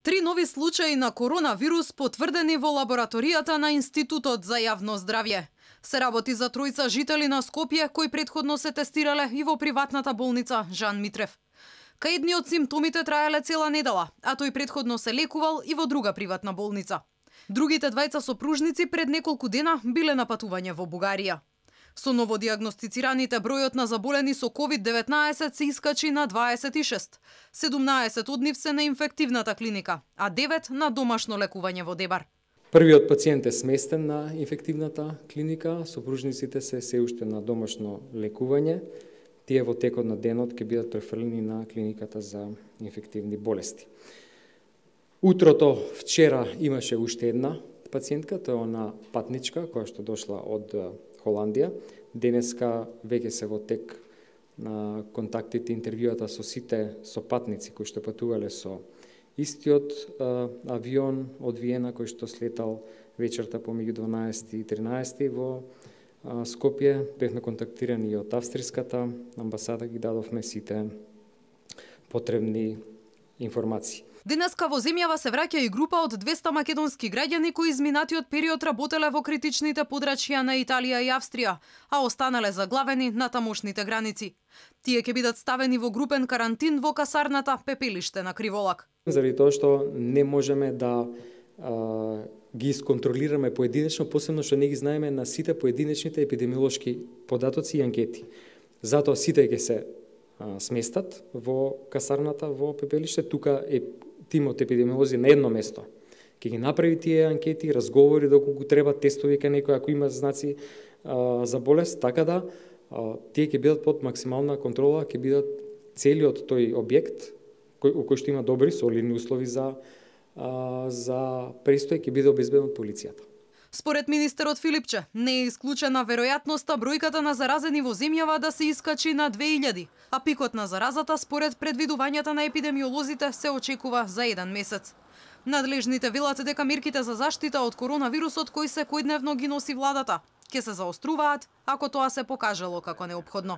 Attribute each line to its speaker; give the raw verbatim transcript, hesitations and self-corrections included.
Speaker 1: Три нови случаи на коронавирус потврдени во лабораторијата на Институтот за јавно здравје. Се работи за тројца жители на Скопје кои претходно се тестирале и во приватната болница Жан Митрев. Кај едниот симптомите траеле цела недела, а тој претходно се лекувал и во друга приватна болница. Другите двајца сопружници пред неколку дена биле на патување во Бугарија. Со новодиагностицираните бројот на заболени со ковид деветнаесет се искачи на дваесет и шест. седумнаесет од нив се на инфективната клиника, а девет на домашно лекување во Дебар.
Speaker 2: Првиот пациент е сместен на инфективната клиника, сопружниците се се уште на домашно лекување. Тие во текот на денот ќе бидат префрлени на клиниката за инфективни болести. Утрото вчера имаше уште една пациентка, тоа е она патничка која што дошла од Холандија. Денеска веќе се во тек на контактите, интервјуата со сите сопатници кои што патувале со истиот а, авион од Виена кој што слетал вечерта помеѓу дванаесет и тринаесет во а, Скопје. Бевме контактирани и од австриската амбасада, ги дадовме сите потребни информации.
Speaker 1: Денеска во земјава се враќа и група од двесте македонски граѓани кои изминатиот период работеле во критичните подрачја на Италија и Австрија, а останале заглавени на тамошните граници. Тие ќе бидат ставени во групен карантин во касарната Пепелиште на Криволак.
Speaker 2: Заради тоа што не можеме да а, ги исконтролираме поединечно, посебно што не ги знаеме на сите поединечните епидемиолошки податоци и анкети. Затоа сите ќе се а, сместат во касарната во Пепелиште. Тука е тимот епидемиолози на едно место. Ќе ги направи тие анкети, разговори доколку треба, тестови кај некој ако има знаци а, за болест, така да а, тие ќе бидат под максимална контрола, ќе бидат целиот тој објект кој, кој што има добри солидни услови за а, за престој, ќе биде обезбеден од полицијата.
Speaker 1: Според министерот Филипче, не е исклучена веројатноста бројката на заразени во земјава да се искачи на две илјади, а пикот на заразата според предвидувањата на епидемиолозите се очекува за еден месец. Надлежните велат дека мерките за заштита од коронавирусот кои секојдневно ги носи владата ќе се заоструваат ако тоа се покажало како неопходно.